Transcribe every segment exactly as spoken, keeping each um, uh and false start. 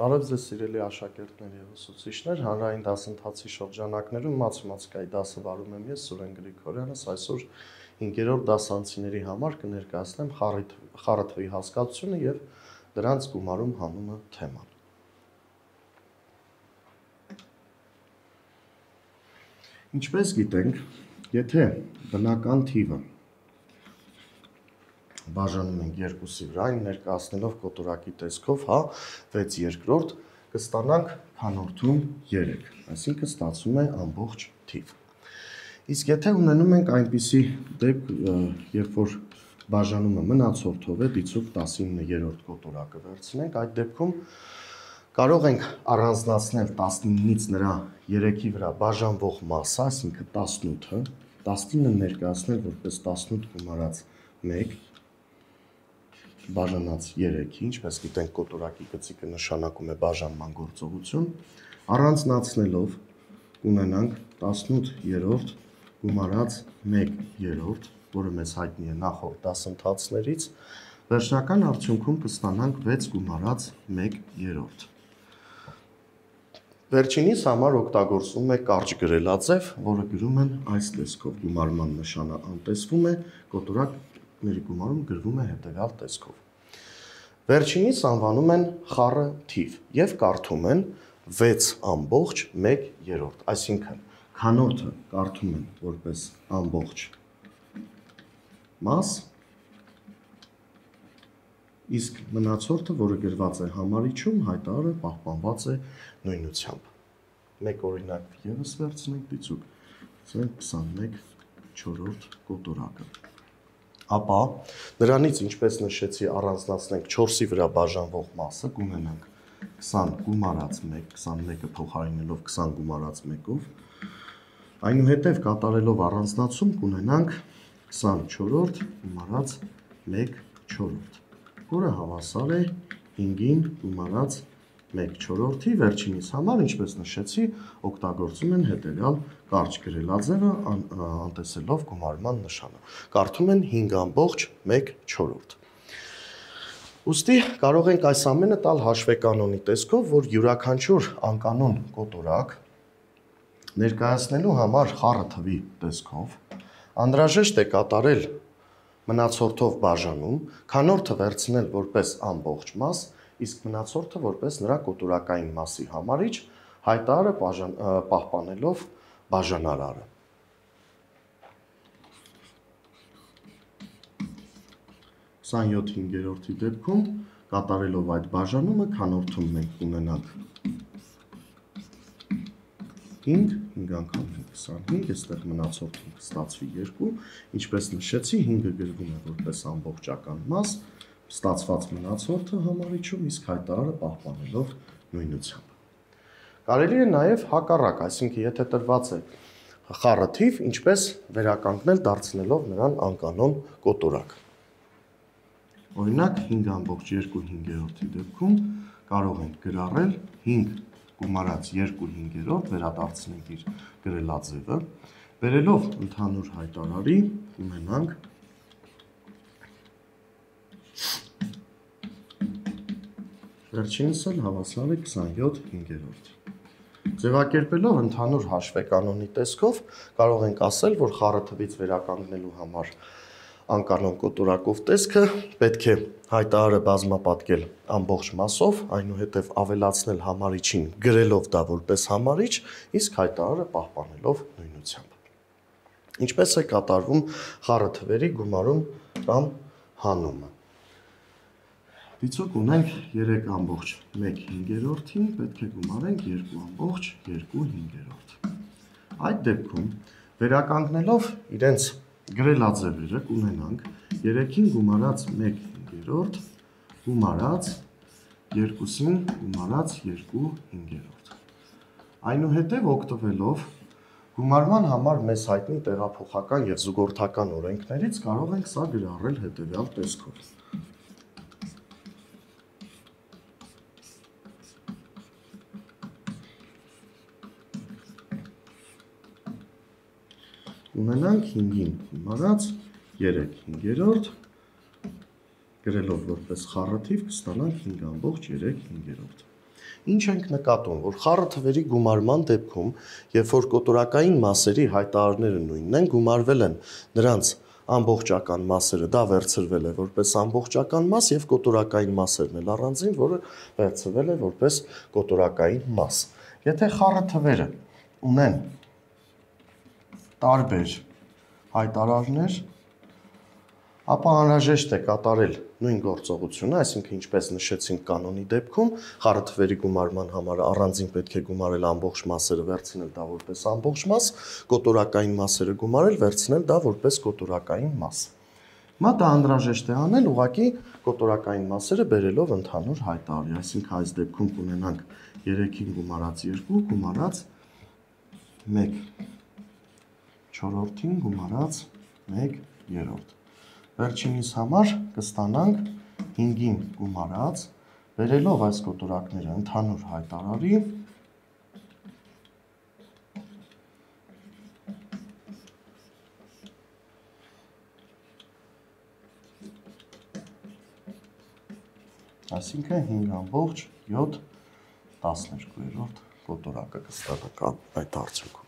Բարև ձեզ սիրելի աշակերտներ եւ ուսուցիչներ, հանրային դասընթացի շրջանակներում մաթեմատիկայի դասը վարում եմ ես Սուրեն Գրիգորյանս, այսօր հինգերորդ դասանցիների համար կներկայացնեմ խառը թվի հասկացությունը եւ դրանց գումարում հանումը թեման։ Ինչպես գիտենք, եթե բնական թիվը բաժանում ենք երկուսի վրա, այն ներկայացնելով կոտորակի տեսքով, հա, վեց երկրորդ, կստանանք քանորդում երեք, այսինքն ստացվում է ամբողջ թիվ։ Իսկ եթե ունենում ենք այնպիսի դեպք, երբ որ բաժանումը մնացորդով է, դիցուք տասիններորդ կոտորակը վերցնենք, այդ դեպքում կարող ենք առանձնացնել տասնինից նրա երեքի վրա բաժանվող մասը, այսինքն տասնութը, տասնինը ներկայացնել որպես տասնութ գումարած մեկ, բաժանած երեքի, ինչպես գիտենք կոտորակի գծիկը նշանակում է բաժանման գործողություն, առանձնացնելով կունենանք տասնութ գումարած մեկ երրորդ, որը մեզ հայտնի է նախորդ դասընթացներից, վերջնական արդյունքում կստանանք վեց գումարած մեկ երրորդ։ Վերջինիս համար օգտագործվում է կարճ գրելաձև, որը գրում են այս տեսքով, գումարման նշանը անտեսվում է, կոտորակների գումարում գրվում է հետևյալ տեսքով։ Վերջինիս անվանում են խառը թիվ եւ կարդում են վեց ամբողջ մեկ երրորդ, այսինքն քանորդը կարդում են որպես ամբողջ մաս, իսկ մնացորդը, որը գրված է համարիչում, հայտարարը պահպանված է նույնությամբ։ Մեկ օրինակ ևս վերցնենք դիցուք, քսանմեկ չորրորդ կոտորակը։ Ապա նրանից, ինչպես նշեցի, առանձնացնենք չորսի վրա բաժանվող մասը, կունենանք քսան գումարած մեկ, քսանմեկը փոխարինելով քսան գումարած մեկով, այնուհետև կատարելով առանձնացում կունենանք քսանչորրորդ գումարած մեկ չորրորդ, որը հավասար է հինգին գումարած մեկ չորրորդի, վերջինիս համար, ինչպես նշեցի, օգտագործում են հետևյալ կարճ գրելաձևը, անտեսելով գումարման նշանը։ Կարդում են հինգ ամբողջ մեկ չորրորդ։ Ուստի կարող ենք այս ամենը տալ հաշվեկանոնի տեսքով, որ յուրաքանչյուր անկանոն կոտորակ ներկայացնելու համար խառը թվի տեսքով անհրաժեշտ է կատարել մնացորդով բաժանում, քանորդը վերցնել որպես ամբողջ մաս, իսկ մնացորդը որպես նրա կոտորակային մասի համարիչ, հայտարարը պահպանելով բաժանարարը։ քսանյոթ հինգերորդի դեպքում կատարելով այդ բաժանումը քանորդում մենք ունենանք հինգ, հինգ անգամ քսանհինգ, այստեղ մնացորդում կստացվի երկու, ինչպես նշեցի, հինգը գրվում է որպես ամբողջական մաս, ստացված մնացորդը համարիչում, իսկ հայտարարը պահպանելով նույնությամբ։ Կարելի է նաև հակառակ, այսինքն եթե տրված է խառը թիվ, ինչպես վերականգնել դարձնելով նրան անկանոն կոտորակ։ Օրինակ հինգ ամբողջ երկու հինգերորդի դեպքում կարող ենք գրառել հինգ գումարած երկու հինգերորդ, վերադարձնենք իր գրելաձևը, բերելով ընդհանուր հայտարարի ունենանք վերջինս էլ հավասար է քսանյոթ հինգերորդ։ Ձևակերպելով ընդհանուր հաշվեկանոնի տեսքով կարող ենք ասել, որ խառը թվից վերականգնելու համար անկանոն կոտորակով տեսքը պետք է հայտարարը բազմապատկել ամբողջ մասով, այնուհետև ավելացնել համարիչին գրելով դա որպես համարիչ, իսկ հայտարարը պահպանելով նույնությամբ։ Ինչպես է կատարվում խառը թվերի գումարում կամ հանումը։ Դիցուք ունենք երեք ամբողջ մեկ հինգերորդին, պետք է գումարենք երկու ամբողջ երկու հինգերորդ։ Այդ դեպքում վերականգնելով իրենց գրելաձևերը կունենանք երեքին գումարած մեկ հինգերորդ գումարած երկուսին գումարած երկու հինգերորդ։ Այնուհետև օգտվելով գումարման համար մեզ հայտնի տեղափոխական և զուգորդական օրենքներից կարող ենք սա գրառել հետևյալ տեսքով։ Ունենանք հինգին գումարած երեք հինգերորդ, գրելով որպես խառը թիվ կստանանք հինգ ամբողջ երեք հինգերորդ։ Ինչ ենք նկատում, որ խառը թվերի գումարման դեպքում, երբ որ կոտորակային մասերի հայտարարները նույնն են, գումարվել են նրանց ամբողջական մասերը, դա վերցրվել է որպես ամբողջական մաս եւ կոտորակային մասերն էլ առանձին, որը վերցրվել է որպես կոտորակային մաս։ Եթե խառը թվերը ունեն տարբեր հայտարարներ, ապա անհրաժեշտ է կատարել նույն գործողությունը, այսինքն ինչպես նշեցինք կանոնի դեպքում, խառը թվերի գումարման համար առանձին պետք է գումարել ամբողջ մասերը, վերցնել դա որպես ամբողջ մաս, կոտորակային մասերը գումարել, վերցնել դա որպես կոտորակային մաս։ Հիմա դա անհրաժեշտ է անել ուղղակի կոտորակային մասերը բերելով ընդհանուր հայտարարի, այսինքն այս դեպքում կունենանք երեքին գումարած երկու գումարած մեկ չորրորդին գումարած մեկ երրորդ։ Վերջինիս համար կստանանք հինգին գումարած, բերելով այս կոտորակները ընդհանուր հայտարարի, այսինքն հինգ ամբողջ յոթ տասներկու կոտորակը կստանանք այդ արդյունքում։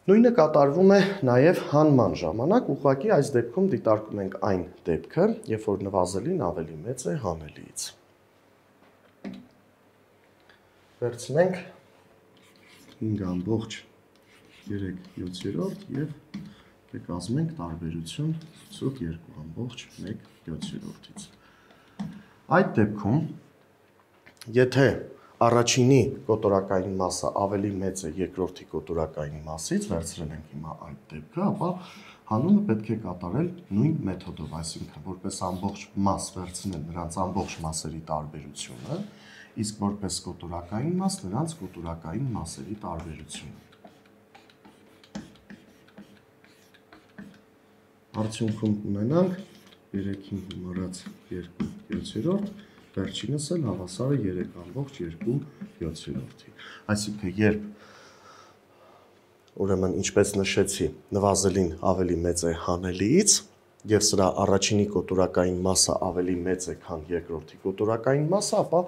Նույնը կատարվում է նաև հանման ժամանակ, ուղղակի այս դեպքում դիտարկում ենք այն դեպքը, երբ որ նվազելին ավելի մեծ է հանելիից։ Վերցնենք հինգ ամբողջ երեք յոթերորդ եւ կկազմենք տարբերություն ցույց երկու ամբողջ մեկ յոթերորդից։ Այդ դեպքում, եթե առաջինի կոտորակային մասը ավելի մեծ է երկրորդի կոտորակային մասից, վերցրել ենք հիմա այդ դեպքը, ապա հանումը պետք է կատարել նույն մեթոդով, այսինքն որպես ամբողջ մաս վերցնել նրանց ամբողջ մասերի տարբերությունը, իսկ որպես կոտորակային մաս նրանց կոտորակային մասերի տարբերությունը։ Արդյունքում կունենանք երեքին գումարած երկու յոթերորդ, վերջինս էլ հավասարը երեք ամբողջ երկու յոթերորդի։ Այսինքն երբ ուրեմն ինչպես նշեցի, նվազելին ավելի մեծ է հանելիից եւ սրա առաջինի կոտորակային մասը ավելի մեծ է, քան երկրորդի կոտորակային մասը, ապա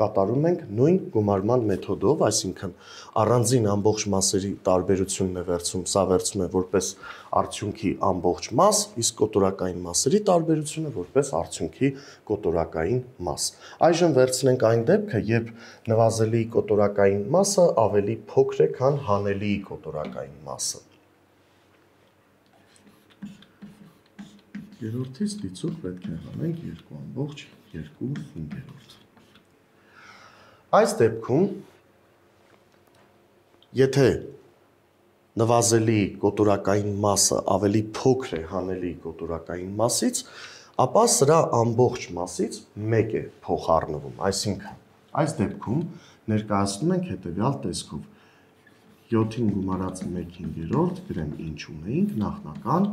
կատարում ենք նույն գումարման մեթոդով, այսինքն առանձին ամբողջ մասերի տարբերությունն է վերցում, սա վերցում է որպես արդյունքի ամբողջ մաս, իսկ կոտորակային մասերի տարբերությունը որպես արդյունքի կոտորակային մաս։ Այժմ վերցնենք այն դեպքը, երբ նվազելիի կոտորակային մասը ավելի փոքր է, քան հանելիի կոտորակային մասը։ Երրորդից դիցուկ պետք է հանենք երկու ամբողջ երկու հինգերորդ։ Այս դեպքում, եթե նվազելիի կոտորակային մասը ավելի փոքր է հանելիի կոտորակային մասից, ապա սրա ամբողջ մասից մեկ է փոխառնվում, այսինքն այս դեպքում ներկայացնում ենք հետևյալ տեսքով. յոթին գումարած մեկ հինգերորդ, գրեմ ինչ ունեինք, նախնական,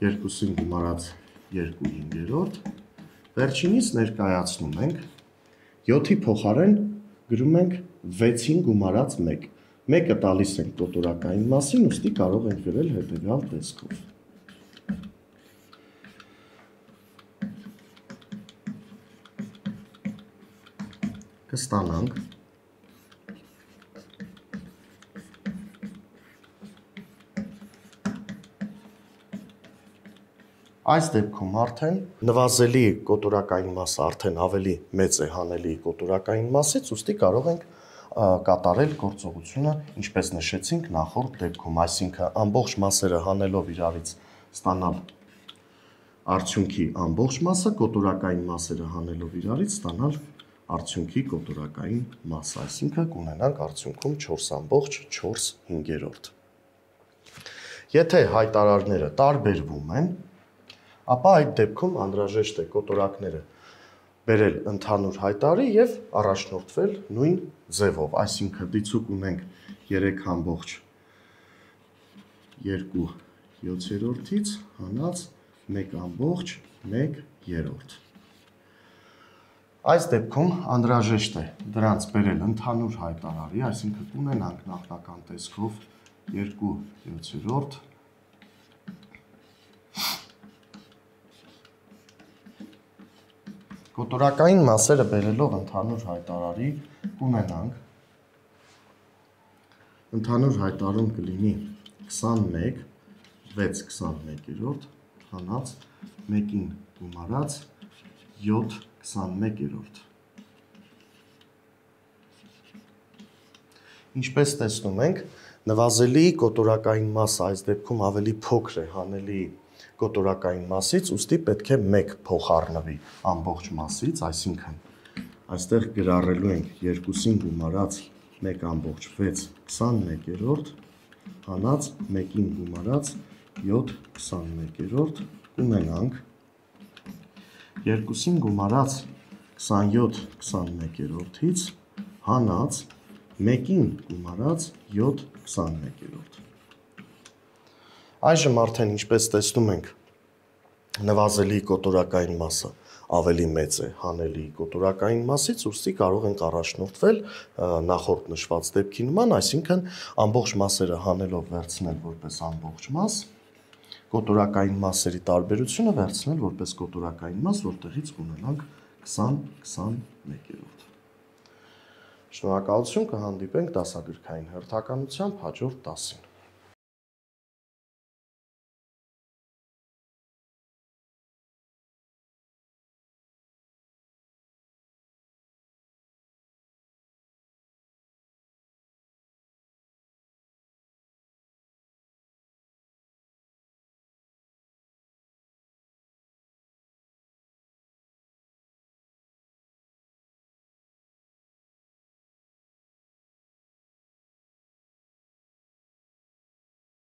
երկուսին գումարած երկու հինգերորդ, վերջինից ներկայացնում ենք, յոթի փոխարեն գրում ենք վեցին գումարած մեկ, մեկը տալիս ենք կոտորակային մասին, ուստի կարող ենք գրել հետևյալ տեսքով. Կստանանք այս դեպքում արդեն նվազելի կոտորակային մասը արդեն ավելի մեծ է հանելիի կոտորակային մասից, ուստի կարող ենք կատարել գործողությունը, ինչպես նշեցինք նախորդ դեպքում, այսինքն ամբողջ մասերը հանելով իրարից ստանալ արդյունքի ամբողջ մասը, կոտորակային մասերը հանելով իրարից ստանալ արդյունքի կոտորակային մասը, այսինքն կունենանք արդյունքում չորս ամբողջ չորս հինգերորդ։ Եթե հայտարարները տարբերվում են, ապա այդ դեպքում անհրաժեշտ է կոտորակները բերել ընդհանուր հայտարարի եւ առաջնորդվել նույն ձևով, այսինքն դիցուկ ունենք երեք ամբողջ երկու յոթերորդից հանած մեկ ամբողջ մեկ երրորդ։ Այս դեպքում անհրաժեշտ է դրանց բերել ընդհանուր հայտարարի, այսինքն կունենանք նախնական տեսքով երկու յոթերորդ Կոտորակային մասերը բերելով ընդհանուր հայտարարի կունենանք ընդհանուր հայտարարում կլինի քսանմեկ, վեց քսանմեկերորդ, հանած մեկին գումարած յոթ քսանմեկերորդ։ Ինչպես տեսնում ենք, նվազելի կոտորակային մասը այս դեպքում ավելի փոքր է հանելի կոտորակային մասից, ուստի պետք է մեկ փոխառնվի ամբողջ մասից, այսինքն այստեղ գրառելու ենք երկուսին գումարած մեկ ամբողջ վեց քսանմեկերորդ, հանած մեկին գումարած յոթ քսանմեկերորդ, կունենանք երկուսին գումարած քսանյոթ քսանմեկերորդից հանած մեկին գումարած յոթ քսանմեկերորդ։ Այժմ արդեն ինչպես տեսնում ենք, նվազելի կոտորակային մասը ավելի մեծ է հանելի կոտորակային մասից, ուստի կարող ենք առաջնորդվել նախորդ նշված դեպքի նման, այսինքն ամբողջ մասերը հանելով վերցնել որպես ամբողջ մաս, կոտորակային մասերի տարբերությունը վերցնել որպես կոտորակային մաս, որտեղից կունենանք քսան քսանմեկերորդ։ Շնորհակալություն, կհանդիպենք դասագրքային հերթականությամբ հաջորդ դասին։